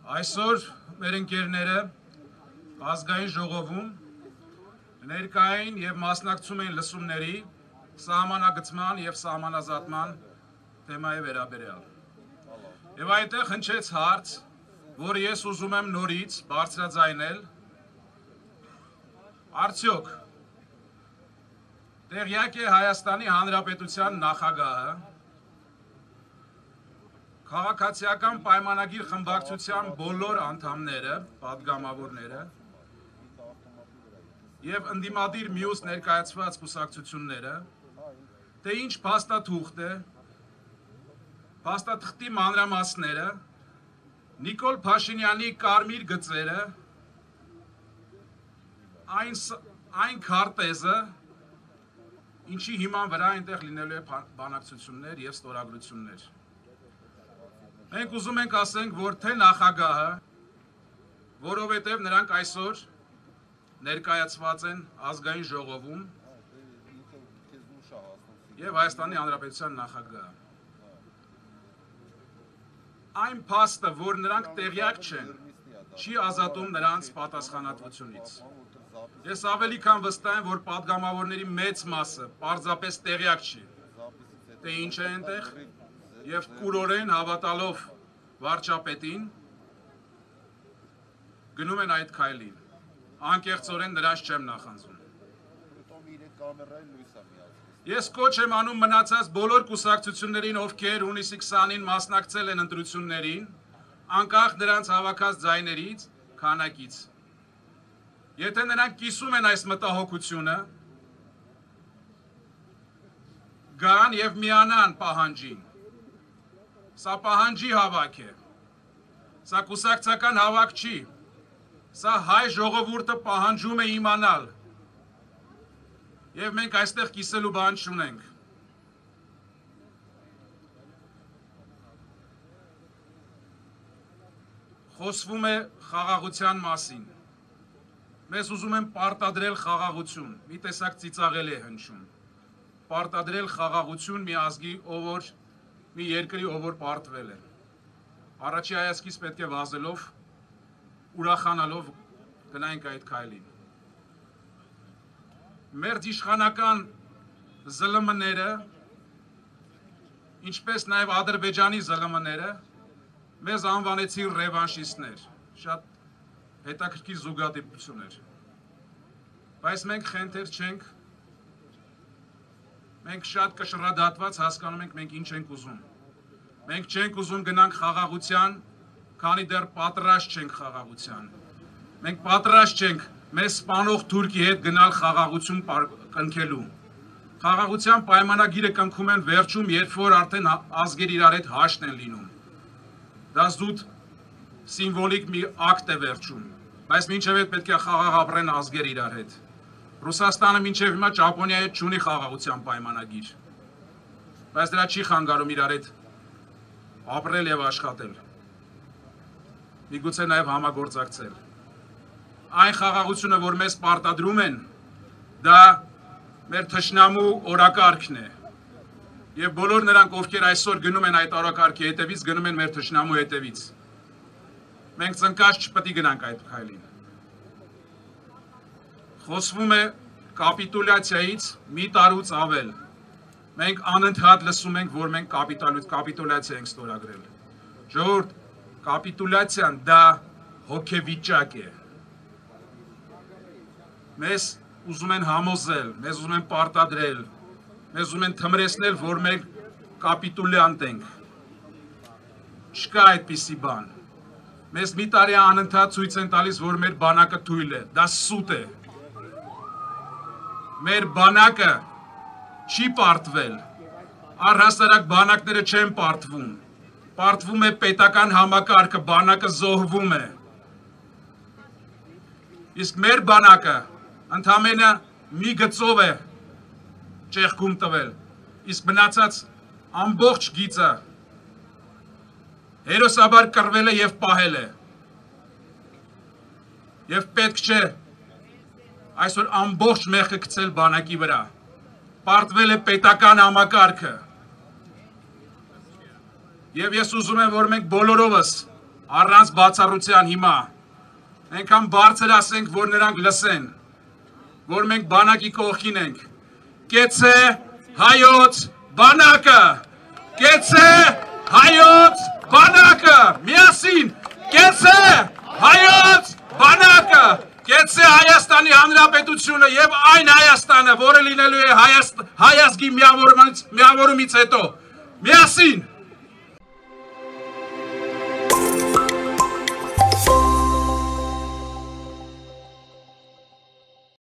Այսօր մեր ընկերները ազգային ժողովում ներկային և մասնակցում են լսումների սահմանագծման և սահմանազատման թեմայի վերաբերյալ։ Եվ այդտեղ հնչեց հարց, որ ես ուզում եմ նորից բարձրաձայնել, արդյոք տեղյակ է Հայաստանի Հանրապետության նախագահը քաղաքացիական պայմանագիր խմբակցության բոլոր անդամները, պատգամավորները և ընդդիմադիր մյուս ներկայացված կուսակցությունները, թե ինչ փաստաթուղթ է, փաստաթղթի մանրամասները, Նիկոլ Փաշինյանի կարմիր գծերը, այն քարտեզը, ինչի հիման վրա այնտեղ լինելու է բանակցություններ և ստորագրություններ։ Մենք ուզում ենք ասենք, որ թե նախագահը, որովհետև նրանք այսօր ներկայացված են ազգային ժողովում և Հայաստանի Հանրապետության նախագահը։ Այն փաստը, որ նրանք տեղյակ չեն, չի ազատում նրանց պատասխանատվությունից։ Ես ավելի քան վստահ եմ, որ պատգամավորների մեծ մասը պարզապես տեղյակ չի, թե ինչ է այնտեղ, և կուրորեն հավատալով վարչապետին, գնում են այդ քայլին, անկեղծորեն նրանց չեմ նախանձում։ Ես կոչ եմ անում մնացած բոլոր կուսակցություններին, ովքեր հունիսի 20-ին մասնակցել են ընտրություններին, անկախ նրանց հավաքած ձայներից, քանակից։ Եթե նրանք կիսում են այս մտահոգությունը, գան և միանան պահանջին։ Սա պահանջի հավաք է, սա կուսակցական հավաք չի, սա հայ ժողովուրդը պահանջում է իմանալ, և մենք այստեղ կիսելու բան չունենք։ Խոսվում է խաղաղության մասին, մեզ ուզում են պարտադրել խաղաղություն, մի տեսակ ծիծաղելի է հնչում, պարտադրել խաղաղություն մի ազգի, մի երկրի, ով որ պարտվել է։ Առաջի հայացքից պետք է վազելով, ուրախանալով գնայինք այդ քայլին։ Մեր իշխանական ԶԼՄ-ները, ինչպես նաև Ադրբեջանի ԶԼՄ-ները, մեզ անվանեցին ռևանշիստներ, շատ հետաքրքիր զուգադիպություն էր։ Բայց մենք խենթեր չենք, մենք շատ կշռադատված հասկանում ենք մենք ինչ ենք ուզում։ Մենք չենք ուզում գնանք խաղաղության, քանի դեռ պատրաստ չենք խաղաղության։ Մենք պատրաստ չենք մեզ սպանող Թուրքի հետ գնալ խաղաղություն կնքելու։ Խաղաղության պայմանագիրը կնքում են վերջում, երբ որ արդեն ազգեր իրար հետ հաշտ են լինում։ Դա զուտ սիմվոլիկ մի ակտ է վերջում, բայց մինչև այդ պետք է խաղաղ ապրեն ազգեր իրար հետ։ Ռուսաստանը մինչև հիմա Ճապոնիայի հետ չունի խաղաղության պայմանագիր, բայց դրա չի խանգարում իրար հետ ապրել և աշխատել, միգուցե նաև համագործակցել։ Այն խաղաղությունը, որ մեզ պարտադրում են, դա մեր թշնամու օրակարգն է, և բոլոր նրանք, ովքեր այսօր գնում են այդ օրակարգի հետևից, գնում են մեր թշնամու հետևից։ Մենք ծնկած չպետք է գնանք այդ քայլին։ Խոսվում է կապիտուլյացիայից մի տարուց ավել։ Մենք անընդհատ լսում ենք, որ մենք կապիտուլյացիա ենք ստորագրել։ Ժողովուրդ, կապիտուլյացիան դա հոգեվիճակ է։ Մեզ ուզում են համոզել, մեզ ուզում են պարտադրել, մեզ ուզում են թմրեցնել, որ մենք կապիտուլյանտ ենք։ Չկա այդպիսի բան։ Մեզ մի տարի անընդհատ ցույց են տալիս, որ մեր բանակը թույլ է, դա սուտ է։ Մեր բանակը չի պարտվել, առհասարակ բանակները չեն պարտվում, պարտվում է պետական համակարգը, բանակը զոհվում է։ Իսկ մեր բանակը ընդամենը մի գծով է ճեղքում տվել, իսկ մնացած ամբողջ գիծը հերոսաբար կռվել է և պահել է։ Եվ պետք չէ այսօր ամբողջ մեղքը գցել բանակի վրա, պարտվել է պետական համակարգը։ Եվ ես ուզում եմ, որ մենք բոլորովս առանց բացառության հիմա այնքան բարձր ասենք, որ նրանք լսեն, որ մենք բանակի կողքին ենք։ Կեցե հայոց բանակը, կեցե հայոց բանակը, միասին, կեցե հայոց բանակը, կեցե Հայաստանի Հանրապետությունը եւ այն Հայաստանը, որը լինելու է հայ ազգի միավորումից հետո, միասին